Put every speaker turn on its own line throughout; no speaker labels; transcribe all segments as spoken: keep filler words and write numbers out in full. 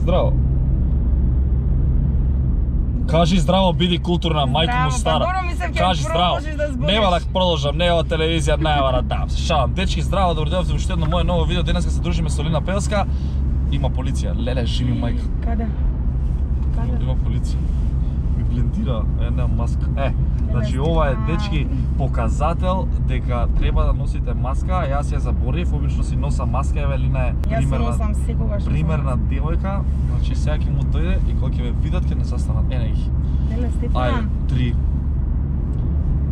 Здраво. Кажи здраво, биди културна, мајко му стара. Кажи здраво. Нема да продолжам, нема телевизија, нема да дам. Се шалам. Дечки, здраво, добро дојдовте во уште едно мое ново видео. Денеска се дружиме со Лина Пеовска. Има полиција. Леле, живи мајка.
Каде? Каде?
Има полиција. Ми блендира една маска. Е, значи ова е, дечки, показател дека треба да носите маска. Јас ја заборив, обично си носа маска, еве Лина е примерна.
Јас носам секогаш.
Примерна девојка, значи сега ќе му дојде и кога ќе ве видат ќе не застанат. Ене ги.
Леле, Стефан.
Ај, три.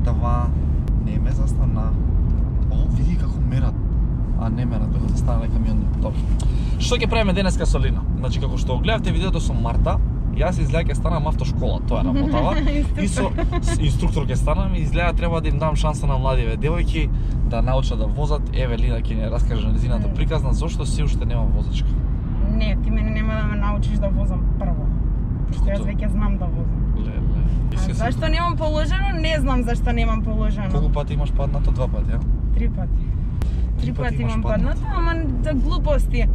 Два. Не ме застана. О, види како мерат. А не мерат, беха застанале камиони. Добро. Што ќе правиме денеска со Лина? Значи како што гледавте видеото со Марта, јас изгледа ќе станам автошкола, тоа е работава. И со инструктор ќе станам и изгледа треба да им дам шанса на младиве девојки да научат да возат. Еве Лина ќе ни раскаже незината приказна зошто се уште нема возачка.
Не, ти мене нема да ме научиш да возам прво. Што јас веќе знам да возам.
Леле.
А зашто немам положено? Не знам зашто немам положено.
Колку пати имаш паднато? Два пати, а?
Три пати. Три пати имам паднато, ама за глупости.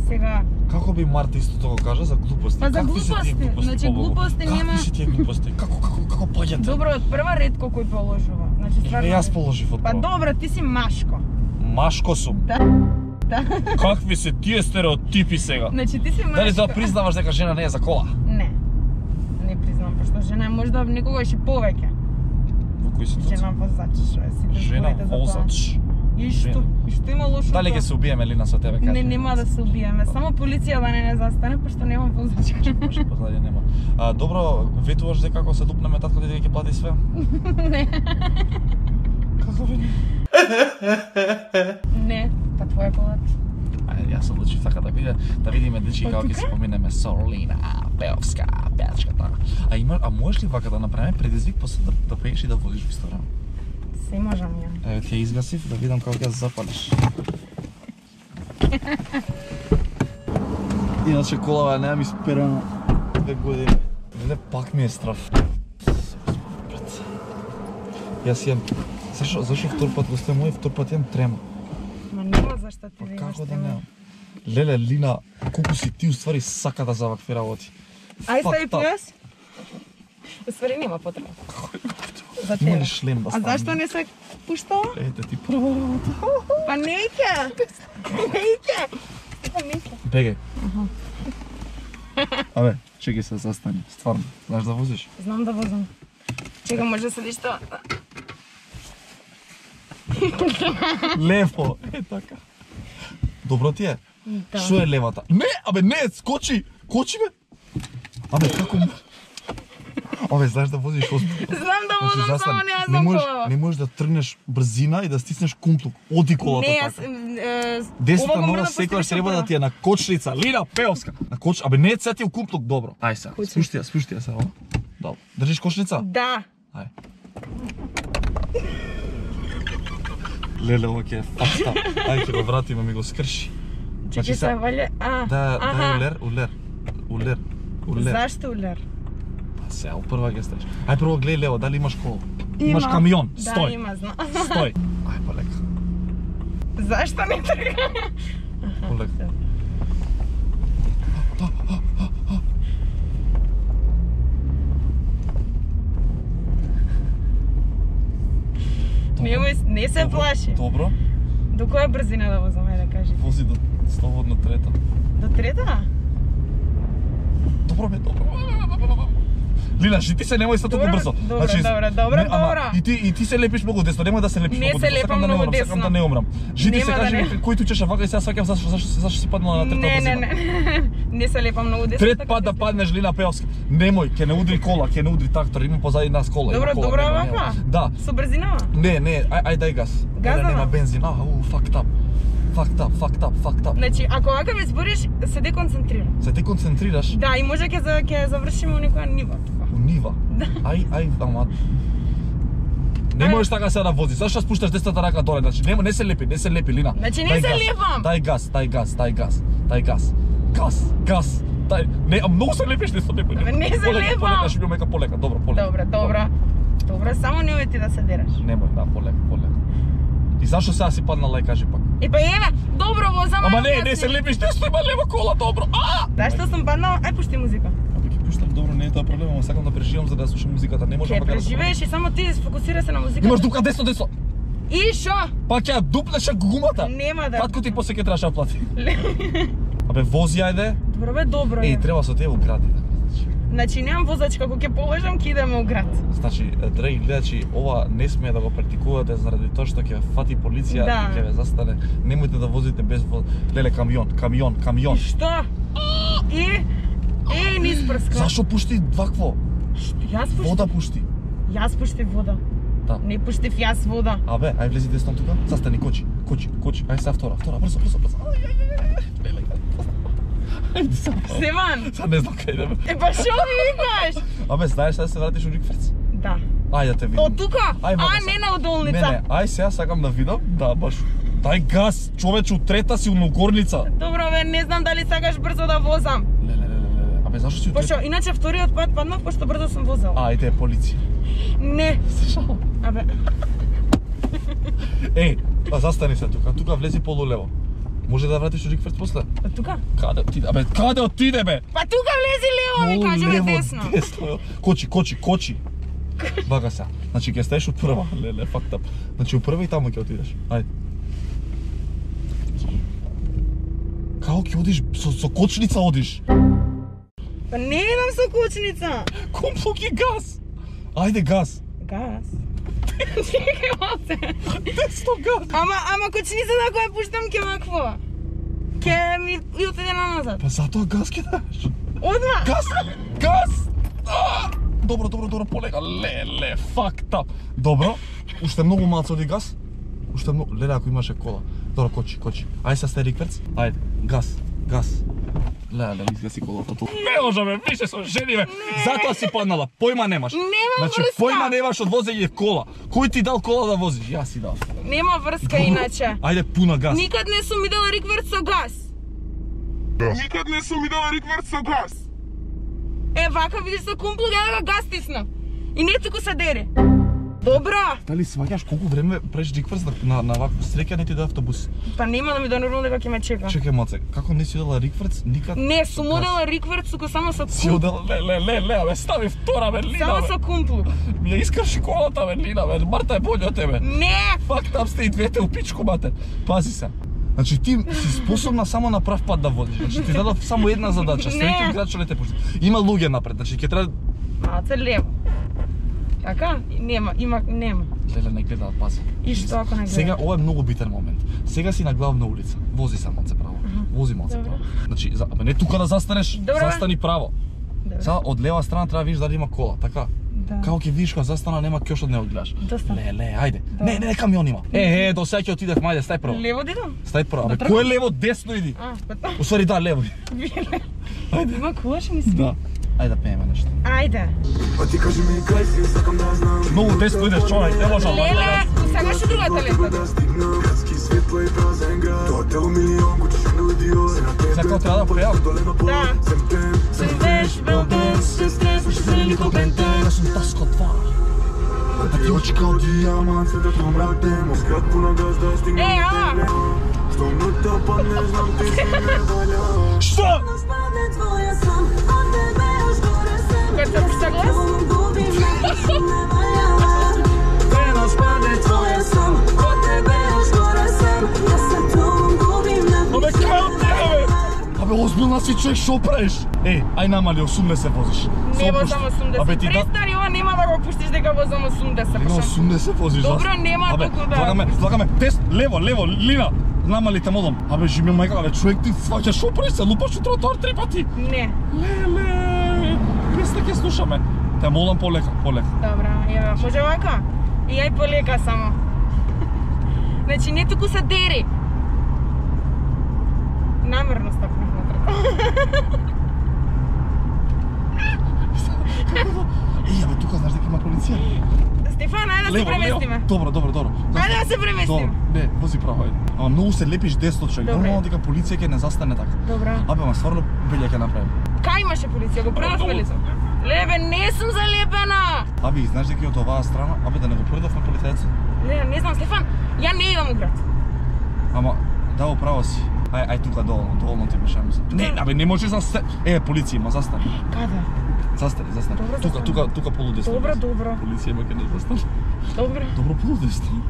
Сега
како би Марта истото го кажа за глупости?
Па за глупости, значи глупости нема.
Какви се тие глупости? Како како како паѓате?
Добро, од прва ретко кој положува. Значи стварно.
Е, јас положив од
Па
прва.
добро, ти си машко.
Машко сум.
Да. Да.
Какви се тие стереотипи сега?
Значи ти си машко.
Дали тоа признаваш дека жена не е за кола?
Не. Не признавам, пошто жена е можда некогаш и повеќе.
Во кои ситуации?
Жена возач, сите
Жена
зборите за тоа.
возач.
И што? И што има лошо?
Дали ќе се убиеме Лина со тебе, кажи?
Не, нема да се убиеме. Само полиција да не не застане, пошто немам возачка.
Може позади нема. А добро, ветуваш дека како се дупнеме татко дете ќе плати све?
Не.
Како ви?
Не, па твоја колат.
Ајде, јас одлучив така да биде, да видиме дечки како ќе се поминеме со Лина Пеовска, пеачката. А има, а можеш ли вака да направиме предизвик после да, да пееш и да водиш во исто време?
Се можам ја.
Еве ти ја изгасив да видам како ќе запалиш. Иначе колава немам исперана две години. Леле, пак ми е страф. Јас имам... Зашо, зашо втор пат госте мој, втор пат имам трема?
Ма нема зашто ти
Па
да имаш
како да
трема.
немам? Леле, Лина, колку си ти уствари сака да за вакви работи.
Ај стави
Fucked up.
појас. Уствари нема потреба. За
Има
тебе.
ли шлем да
А
ставам?
зашто не се пуштава?
Ете ти прва работа.
Па не иќе. Не иќе. Па не иќе.
Бегај. Абе, чекај се, застани. Стварно, знаеш да возиш?
Знам да возам. Чека, може да седиш тоа.
Лево, е така. Добро ти е?
Да.
Шо е левата? Не, абе не, скочи! Кочи бе! Абе, како му? Абе, знаеш да возиш озбилно.
Знам да
Значи,
возам, само
застани.
не ја
Не
знам
можеш,
колава.
не можеш да тргнеш брзина и да стиснеш кумплук. Оди колата
Не, јас...
така.
е,
Десната
ова го
нога
морам да
секогаш
поставиш
треба да
прва.
ти е на кочлица. Лина Пеовска. На коч, абе не е цетил кумплук добро. Ај сега,
Кој
спушти ја, спушти ја сега. ова. Добро. Држиш кочлица?
Да.
Ај. Леле, ова ќе е факта. Ај ќе го вратиме, ми го скрши.
Чекай се вале. А.
Да, да,
аха.
улер, улер. Улер. Улер.
Зашто улер?
Па сега, прва ќе стаеш. Ај прво гледај лево, дали имаш кола?
Има.
Имаш камион,
Да,
стој.
има, знам.
Стој. Ај, полека.
Зашто не трга?
Полека.
Немој, не се
Добро,
плаши.
Добро.
До која брзина да возам, ајде да кажи?
Вози до слободно трета.
До трета?
Добро бе, добро. Лина, ти се немој се толку
Добро,
брзо.
добро, добро, добро,
не, ама,
добро.
И ти и ти се лепиш многу десно, немој да се лепиш
Не
многу
се
десно.
лепам
Сакам да не
многу
умрам, сакам
десно.
да не умрам. Жити се
Нема да
кажи
не.
ми кој ти чеше вака и сега сваќам зашто зашто зашто си паднала на трета
Не, не,
брзина.
не. Не се лепам многу десно.
Трет
така
пат да
се-
паднеш Лина Пеовска. Немој, ќе не удри кола, ќе не удри трактор, има позади нас кола. има
Добро,
кола,
добро
нема,
вака?
нема. Да.
Со брзинава?
Не, не, ај ај дај газ.
Газ
Леле,
да
нема
дам?
бензин. А, у, fucked up. Fucked up, fucked up, fucked up.
Значи, ако вака ме збориш, се деконцентрирам.
Се ти концентрираш
Да, и може ќе за- ќе завршиме у некоја нива тука.
у нива. Ај, ај, ама не
Ај.
можеш така сега да возиш. Зашто спушташ десната рака доле? Значи не, не се лепи, не се лепи, Лина.
Значи, не
Дај
се
газ,
лепам.
Дај газ, дај газ, дај газ, дај газ. Газ, газ. Дај. Не, а многу се лепиш, не се лепи.
Не се
Полека,
лепам.
полека, ще мека полека, добро, полека.
Добро, добро. Добро, само не ти да се дераш.
Немој, да, полека, полека. И зашо сега си паднала и кажи пак?
И па еве, добро возам.
Ама не, не се лепиш, десно има лево кола, добро. А!
Да, што сум паднала, ај пушти музика.
Абе ќе пуштам, добро, не е тоа проблем, ама сакам да преживам за да слушам музиката, не можам
Ќе
така да
преживееш и само ти сфокусира се на музиката.
Имаш дупка десно, десно.
И шо?
Пак ќе дупнеш гумата.
Нема да.
Татко ти после ќе требаш да плати. Абе вози ајде.
Добро бе, добро е.
Еј, треба со тебе у град идеме.
Значи немам возач, како ќе полежам, ќе идеме у град.
Значи, драги гледачи, ова не смее да го практикувате заради тоа што ќе ве фати полиција
Да.
и ќе ве застане. Немојте да возите без воз... Леле, камион, камион, камион.
И што? И Еј, не спрска.
Зашо пушти вакво?
Јас пуштив.
Вода пушти.
Јас пуштив вода.
Да.
Не пуштив јас вода.
Абе, ај влези десно тука. Застани, кочи, кочи, кочи. Ај сега втора, втора, брзо, брзо, брзо. Ај, ај, ај, ај. Леле, ајде сега.
Стеван.
Сега не знам кај идеме.
Е, па шо ми викаш?
Абе, знаеш да се вратиш у Рикферц?
Да.
Ај да те видам.
Од тука?
Ај,
А,
мога
не
сега.
на удолница.
Не, не, ај сега сакам да видам. Да, баш. Дај газ, човече, трета си у горница.
Добро бе, не знам дали сакаш брзо да возам.
Леле, леле, леле. Абе, зашо си у трета?
Пошто, иначе вториот пат паднав, пошто брзо сум возел.
Ајде, е полиција.
Не.
Зашо?
Абе,
Еј, а застани се тука, тука влези полулево. Може да вратиш у Рикферц после?
од тука?
Каде отиде? Абе, каде отиде бе?
Па тука влези лево, ми кажеме
Полулево,
десно.
десно. Кочи, кочи, кочи. Бага се. Значи ќе стаеш од прва. Леле, факт ап. Значи у прва и таму ќе отидеш. Ајде. Како ќе одиш со, со кочница одиш?
Па не идам со кучница.
Компло ги газ. Ајде газ.
Газ. Чекај малце.
Десно газ.
Ама, ама кучница да која пуштам ке макво. Ке ми и отиде на назад.
Па затоа газ ќе даш.
Одма.
Газ! Газ! А! Добро, добро, добро, полека. Леле, факт ап. Добро. Уште многу малце оди газ. Уште многу. Леле, ако имаше кола. Добро, кочи, кочи. Ајде са сте Рикферц. Ајде. Газ. Газ. Леле, изгаси колата ту. Не можеме, више со жени бе. Затоа си паднала. Појма немаш.
Нема
Значи,
врска.
појма немаш од возење кола. Кој ти дал кола да возиш? Јас си дал.
Нема врска иначе.
Ајде, пуна газ.
Никад не сум видела Рикверц со газ.
Никад не сум видела Рикверц со газ.
Е, вака видиш со кумплу, ја да го газ тиснав. И не туку се дере. Добро.
Дали сваќаш колку време преш Рикферц на, на, на вакво среќа не ти да автобус?
Па нема да ми да нормално дека ќе ме чека.
Чекај маце, како не си одела Рикферц никад?
Не, сум
Газ.
одела Рикверц туку само со
Си
кумплу.
одела, ле, ле, ле, ле, бе, стави втора Берлина,
Само
бе.
со кумплу.
Ми ја искрши колата Берлина, бе, Марта е боља од тебе.
Не.
Фак, там сте и двете у пичку, мате. Пази се. Значи ти си способна само на прав пат да водиш. Значи ти дадов само една задача,
Не.
следите град што не те пушти. Има луѓе напред, значи ќе треба...
Малце лево. Така? Нема, има, нема.
Леле, не гледаат, пази.
И што ако не гледа?
Сега ова е многу битен момент. Сега си на главна улица. Вози се малце право. Вози малце
Добро.
право. Значи, за, абе, не тука да застанеш,
Добро.
застани право.
Добро.
Сега од лева страна треба видиш дали има кола, така?
Да.
Како ќе видиш кога застана нема кјош од него гледаш.
Доста.
Ле, ле, ајде.
Да.
Не, не, не, камион има. Е, е, до сега ќе отидев, мајде, стај прво.
Лево дидам?
Стај прво. Абе,
Да,
кој е лево, десно иди?
А, па
Усвари да, лево.
Биле.
Ајде.
Има кулаш ми се.
Да. Ајде да пееме нешто.
Ајде.
Па ти кажи ми кај си, сакам да знам.
Многу десно идеш, човек, не можам.
Леле, сакаш и другата лента?
Да стигнам, градски светла и празен град. Хотел милион, кучиш луѓе, се на тебе.
Сега како треба да пеам?
Доле на пол,
Да.
сем тем.
Се веш, белбен, се стресваш, се нико бентен.
Јас сум Таско два.
Да ти очи као дијамант, се да твом рак демо. Скрат пуна газ да стигнам.
Е, ала!
Што нота па не знам, ти си не валя.
Што?
Кога се пушта глас?
Абе, кај од тебе, бе? Абе, озбилна си човек, шо правиш? Е, ај намали, осумдесет возиш.
Не
Се
возам
опушти.
осумдесет.
Абе, ти да...
Престани, ова нема да го пуштиш дека возам осумдесет.
Лина,
Пошо?
осумдесет возиш.
Добро,
зас-
нема
Абе,
толку да-
влагаме, влагаме, тест, лево, лево, Лина. Намали те молам. Абе, живи мајка, абе, човек ти сваќаш, шо правиш се, лупаш у тротоар три пати.
Не.
Леле, песна ќе слушаме. Те молам полека, полека.
Добра, еве, може вака? И ај полека само. Значи, не туку се дери. Намерно стапнав натре.
Еј, абе, тука знаеш дека има полиција.
Стефан, ајде да се преместиме.
Добро, добро, добро.
Ајде да се преместиме.
Добро, не, вози право, ајде. Ама многу се лепиш десно, човек.
Добре.
Нормално дека полиција ќе не застане така.
Добра.
Абе, ма стварно беле ќе направим.
Кај имаше полиција? Го предав полиција? Лебе, не сум залепена.
Аби, знаеш дека од оваа страна, абе да не го предавме полицајцот.
Не, не знам, Стефан, ја не идам у град.
Ама, да, управо си. Ај, ај тука доволно, доволно ти мешаме се. Не, абе, не може за се... Е, полиција има, застани.
Каде?
Застани, застани.
Добро,
тука,
застани.
тука, тука полудесно.
Добро, добро.
Полиција има ке не застани.
Добро.
Добро полудесно.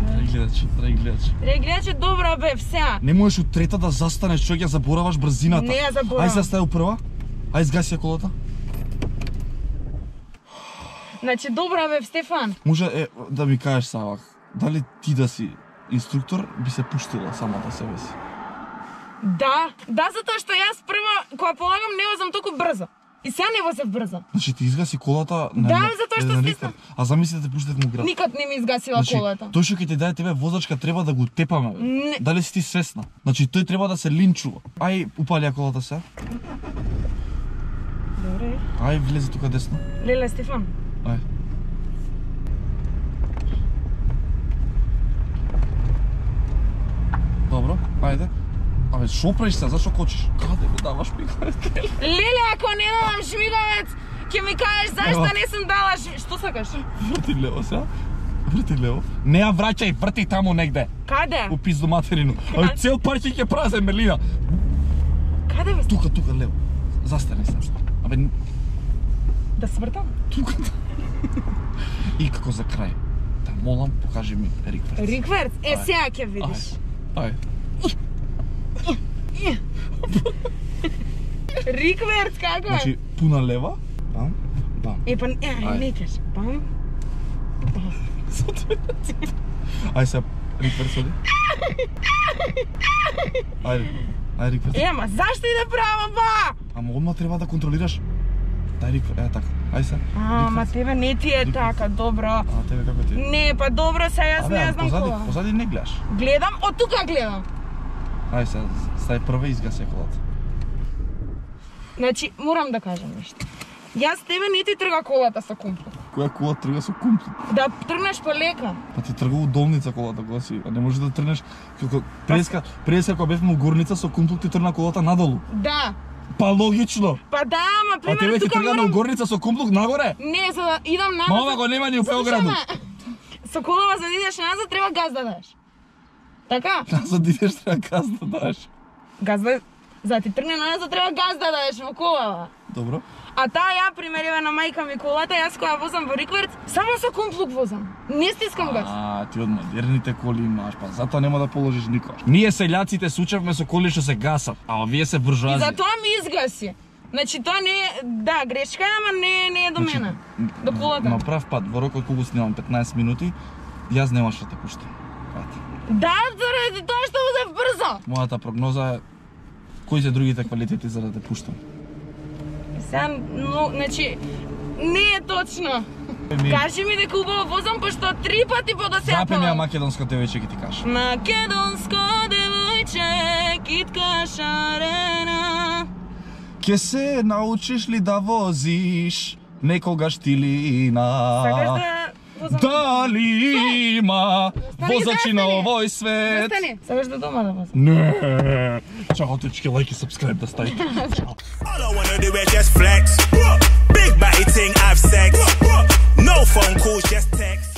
Трај гледачи, трај гледачи.
Трај гледачи, добро бе, сега.
Не можеш у трета да застанеш, човек, ја забораваш брзината.
Не ја заборавам.
Ај се стај у прва. Ај згаси ја колата.
Значи, добро бе, Стефан.
Може е, да ми кажеш Савак, дали ти да си инструктор би се пуштила самата себе си?
Да, да, затоа што јас прво, кога полагам, не возам толку брзо. И сега не возев брзо.
Значи ти изгаси колата на
Да,
на-
затоа што
на
стиснав.
ликар. А замисли да те пуштат му град.
Никад не ми изгасила
Значи,
колата.
тој што ќе ти даде тебе возачка треба да го тепаме. Бе.
Не.
Дали си ти свесна? Значи тој треба да се линчува. Ај упали ја колата се.
Добре.
Ај влези тука десно.
Леле, Стефан.
Ај. Добро, ајде. Абе, шо правиш се? Зашо кочиш? Каде ми даваш пикавец?
Леле, ако не дадам шмиговец, ќе ми кажеш зашто
Ева.
не сум дала шми... Што сакаш?
Врти лево сега. Врти лево. Не ја враќај, врти таму негде.
Каде?
У пизду материну. Абе, цел парк ќе празен Мелина.
Каде бе?
Тука, тука, лево. Застани се. Абе,
Да свртам?
тука. И како за крај. Да молам, покажи ми рикверс.
Рикверц? Е,
Ај.
сега ќе видиш.
Ај.
Рикверц, како е?
Значи, пуна лева. Бам, бам.
Е, па, е,
Ај.
не кажи. Бам.
Ај се, рикверс оди. Ајде, ај рикверс.
Е, ама зашто иде право, ба?
Ама одма треба да контролираш. Дај рикверс, е така. Ај се.
А, ма
рикверс.
тебе не ти е така, добро.
А тебе како ти?
Не, па добро, сега јас
Абе,
не
а
знам
позади,
кола.
позади не гледаш.
Гледам, од тука гледам.
Ај се, стај прва и изгаси колата.
Значи, морам да кажам нешто. Јас тебе не ти трга колата со комплот.
Која кола трга со комплот?
Да тргнеш полека.
Па ти тргува долница колата, кога си, а не може да тргнеш како преска, преска кога бевме у горница со комплот ти тргна колата надолу.
Да.
Па логично.
Па да, ама
А тебе
примерно
ти
тука
тргна на
морам...
горница со комплот нагоре?
Не, за да идам назад...
Ма ова го нема ни у Белграду.
Слушай ме, со колава за да идеш назад треба газ да дадеш. Така?
За да идеш треба газ да дадеш.
Газ да... За да ти тргне назад треба газ да дадеш во колава.
Добро.
А таа ја примериве на мајка ми колата, јас кога возам во Рикверц, само со комплук возам. Не стискам газ.
А, ти од модерните коли имаш, па затоа нема да положиш никош. Ние селјаците се учевме со коли што се гасат, а овие се
И
буржуази.
затоа ми изгаси. Значи тоа не е, да, грешка е, ама не, не е до мене. До колата.
На прав пат, во рокот колку снимам петнаесет минути, јас немаш да те пуштам. Ето.
Да, заради тоа што возев брзо.
Мојата прогноза е кои се другите квалитети за да те пуштам.
Сега, но, значи, не е точно.
Ми-
Кажи ми дека убаво возам, пошто три пати по да се
Запеми ја македонско девојче ќе ти кажа.
Македонско девојче, китка шарена.
Ке се научиш ли да возиш некогаш тилина?
Сакаш да возам?
Дали има
Застани,
возачи на
застани.
овој свет?
Застани. Сакаш да дома да возам?
Не. Чао, течки, лайк и сабскрайб да ставите.
All I wanna do is just flex. Big body ting, have sex. No phone calls, just text.